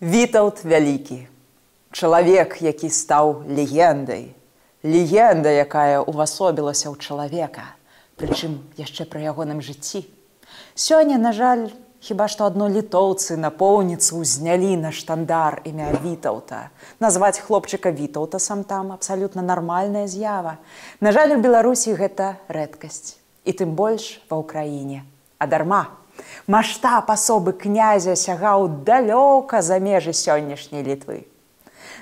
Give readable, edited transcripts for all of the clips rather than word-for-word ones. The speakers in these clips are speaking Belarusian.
Вітаўт вялікі. Чалавек, які стаў легендай. Легенда, якая ўвасобілася ў чалавека, прычым яшчэ пры ягоным жыцці. Сёння, на жаль, хіба што адно літоўцы напоўніцу ўзнялі на штандар імя Вітаўта. Назваць хлопчыка Вітаўтасам там абсалютна нармальная з'ява. На жаль, у Беларусі гэта рэдкасць. І тым больш ва ўкраіне. А дарма. Маштаб асобы князя сягаў далёка за межы сённяшняй Літвы.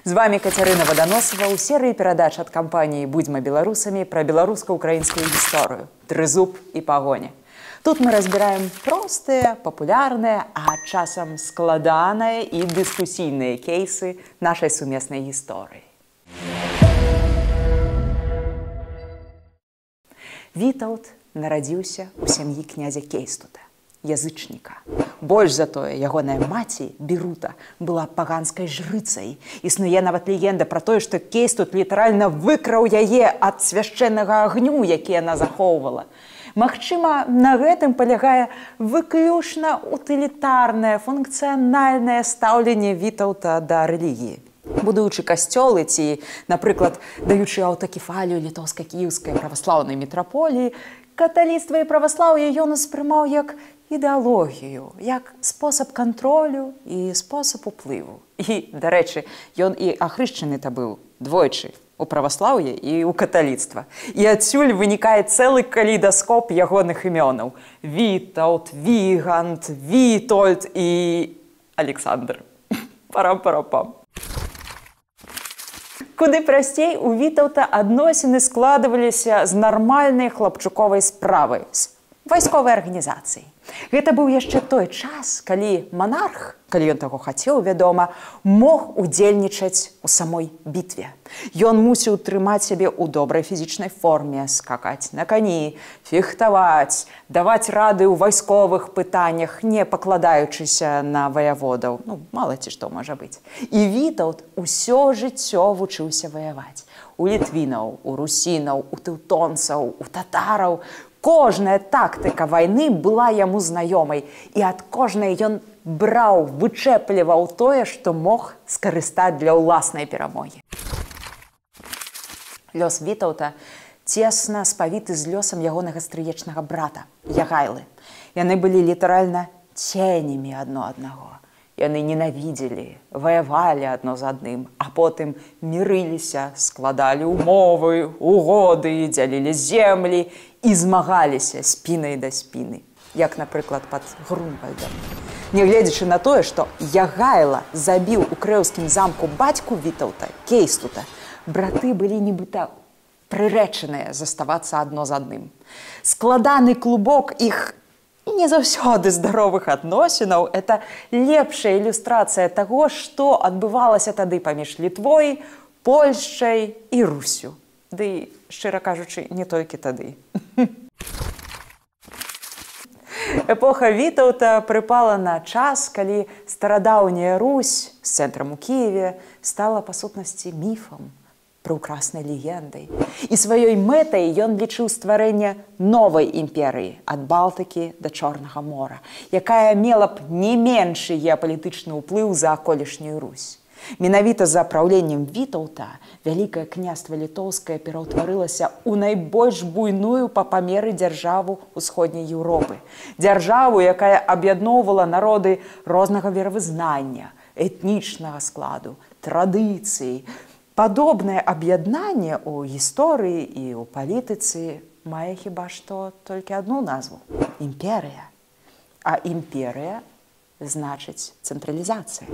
З вами Кацярына Ваданосава ў серыі перадач ад кампаніі «Будзьма беларусамі» пра беларуска-украінскую гісторыю, трызуб і пагоня. Тут мы разбіраем простыя, папулярныя, а часам складаныя і дыскусійныя кейсы нашай сумеснай гісторыі. Вітаўт нарадзіўся ў сям'і князя Кейстута, язычніка. Больш за тое, ягоная маці, Бірута, была паганскай жрыцай. Існуе нават легенда пра тое, што Кейстут літаральна выкраў яе ад свяшчэннага агню, які яна захоўвала. Магчыма, на гэтым палягае выключна утылітарнае, функцыянальнае стаўленне Вітаўта да рэлігіі. Будуючы касцёлы ці, напрыклад, даючы аўтакефалію літоўска-кіеўскай праваслаўнай мітраполіі, каталіцтва і праваслаўе ён успрымаў як ідэалогію, як спосаб кантролю і спосаб уплыву. І, дарэчы, ён і ахрышчаны-то быў двойчы у праваслаўе і ў каталіцтва. І адсюль вынікае цэлы калейдаскоп ягоных імёнаў. Вітаўт, Вігант, Вітольд і Александр. Парам-парапам. Куды прасцей, у Вітаўта адносіны складваліся з нармальнай хлапчуковай справай, з вайсковай арганізацыі. Гэта быў яшчэ той час, калі манарх, калі ён таго хацеў, вядома, мог удзельнічаць у самой бітве. Ён мусіў трымаць сябе ў добрай фізічнай форме, скакаць на кані, фехтаваць, даваць рады ў вайсковых пытаннях, не пакладаючыся на ваяводаў. Ну, мала ці што можа быць. І Вітаўт усё жыццё вучыўся ваяваць. У літвінаў, у русінаў, у тэўтонцаў, у татараў. Кожная тактыка вайны была яму знаёмай, і ад кожнай ён браў, вычэпліваў тое, што мог скарыстаць для ўласнай перамогі. Лёс Вітаўта цесна спавіты з лёсам ягонага стрыечнага брата, Ягайлы. Яны былі літаральна ценямі адно аднаго. Яны ненавідзелі, ваявалі адно з адным, а потым мірыліся, складалі ўмовы, угоды, дзялілі землі і змагаліся спінай да спіны, як, напрыклад, пад Грунвальдам. Нягледзячы на тое, што Ягайла забіў у крэўскім замку бацьку Вітаўта, Кейстута, браты былі нібыта прырэчаныя заставацца адно з адным. Складаны клубок іх не заўсёды здаровых адносінаў – это лепшая ілюстрацыя таго, што адбывалася тады паміж Літвой, Польшчай і Русю. Ды, шчыра кажучы, не толькі тады. Эпоха Вітаўта прыпала на час, калі старадаўняя Русь з цэнтрам у Кіеве стала, па сутнасці, міфам, прыўкраснай легендай. І сваёй мэтай ён лічыў стварэнне новай імперыі ад Балтыкі да Чорнага мора, якая мела б не меншы геапалітычны ўплыў за аколішнюю Русь. Менавіта за праўленнем Вітаўта Вялікае княства Літоўскае пераўтварылася ў найбольш буйную па памеры дзяржаву ўсходняй Еўропы. Дзяржаву, якая аб'ядноўвала народы рознага веравызнання, этнічнага складу, традыцыі. Падобнае аб'яднанне ў гісторыі і ў палітыцы мае хіба што толькі адну назву – імперыя. А імперыя значыць цэнтралізацыя.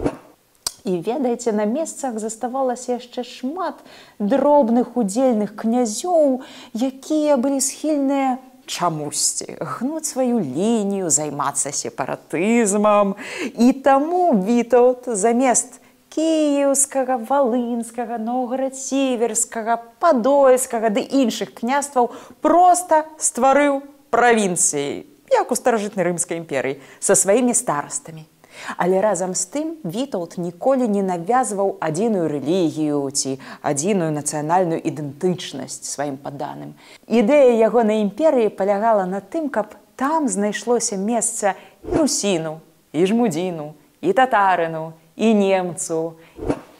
І, ведаеце, на месцах заставалася яшчэ шмат дробных удзельных князёў, якія былі схільныя чамусьці гнуць сваю лінію, займацца сепаратызмам. І таму Вітаўт замест кіеўскага, валынскага, новгород-сіверскага, падольскага ды іншых княстваў проста стварыў правінцыі, як у старажытнай рымскай імперыі, са сваімі старастамі. Але разам з тым Вітаўт ніколі не навязваў адзіную рэлігію ці адзіную нацыянальную ідэнтычнасць сваім падданым. Ідэя ягонай імперыі палягала на тым, каб там знайшлося месца і русіну, і жмудзіну, і татарыну, і немцу.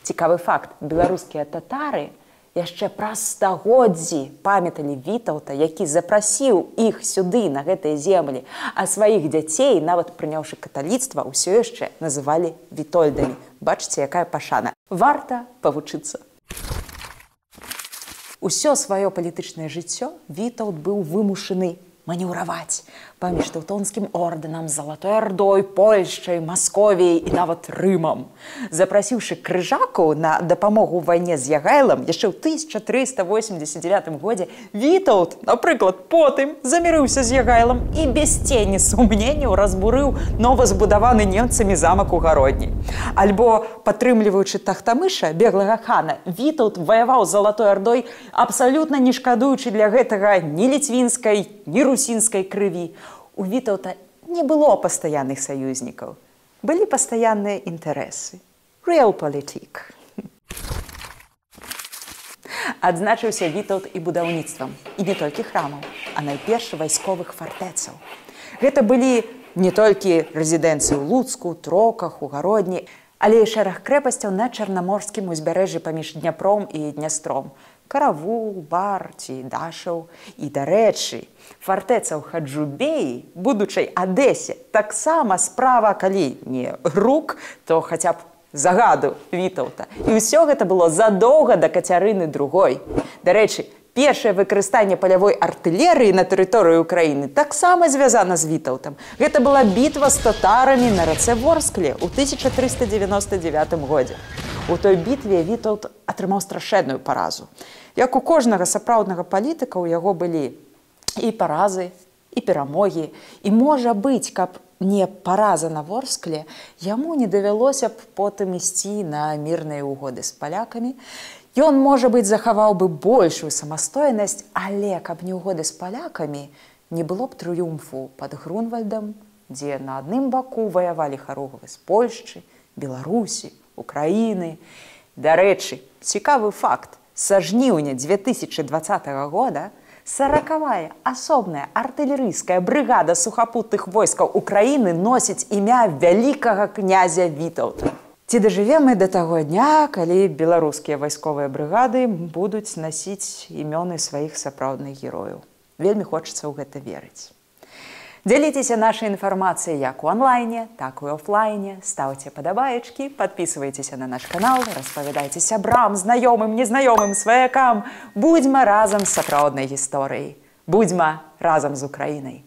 Цікавы факт, беларускія татары яшчэ праз стагоддзі памяталі Вітаўта, які запрасіў іх сюды, на гэтыя землі, а сваіх дзяцей, нават прыняўшы каталіцтва, ўсё яшчэ называлі вітольдамі. Бачыце, якая пашана. Варта павучыцца. Усё сваё палітычнае жыццё Вітаўт быў вымушаны манеўраваць паміж тэўтонскім ордэнам, Залатой Ардой, Польшчай, Масковіяй і нават Рымам. Запрасіўшы крыжакаў на дапамогу ў вайне з Ягайлам яшчэ ў 1389 годзе, Вітаўт, напрыклад, потым замірыўся з Ягайлам і без цені сумненняў разбурыў новазбудаваны немцамі замак у Гародні. Альбо, падтрымліваючы Тахтамыша, беглага хана, Вітаўт ваяваў з Залатой Ардой, абсалютна не шкадуючы для гэтага ні ліцвінскай, ні русінскай крыві. У Вітаўта не было пастаянных саюзнікаў. Былі пастаянныя інтарэсы. Realpolitik. Адзначыўся Вітаўт і будаўніцтвам. І не толькі храмаў, а найперш вайсковых фартэцаў. Гэта былі не толькі рэзідэнцыі ў Луцку, Троках, у Гародні, але і шэраг крэпасцяў на чарнаморскім узбярэжжы паміж Дняпром і Днястром. Каравул, Бар ці Дашаў. І, дарэчы, фартэца ў Хаджубеі, будучай Адэсе, таксама справа, калі не рук, то хаця б загаду Вітаўта. І ўсё гэта было задоўга да Кацярыны II. Дарэчы, першае выкарыстанне палявой артылерыі на тэрыторыі Украіны таксама звязана з Вітаўтам. Гэта была бітва з татарамі на рацэ Ворскле ў 1399 годзе. У той бітве Вітаўт атрымаў страшэнную паразу. Як у кожнага сапраўднага палітыка, у яго былі і паразы, і перамогі. І можа быць, каб не параза на Ворскле, яму не давялося б потым ісці на мірныя угоды з палякамі. Ён, можа быць, захаваў бы большую самастойнасць, але каб не угоды з палякамі, не было б трыумфу пад Грунвальдам, дзе на адным баку ваявалі харугвы з Польшчы, Беларусі, Украіны. Дарэчы, цікавы факт. Са жніўня 2020 года 40-я асобная артылерыйская брыгада сухапутных войскаў Украіны носіць імя вялікага князя Вітаўта. Ці дажывем мы да таго дня, калі беларускія вайсковыя брыгады будуць насіць імёны сваіх сапраўдных герояў? Вельмі хочацца ў гэта верыць. Дзяліцеся нашай інфармацыяй як у онлайне, так і офлайне. Ставце падабаечкі, падпісвайцеся на наш канал, распавядайце сябрам, знаёмым, незнаёмым, сваякам. Будзьма разам з сапраўднай гісторыяй. Будзьма разам з Украінай.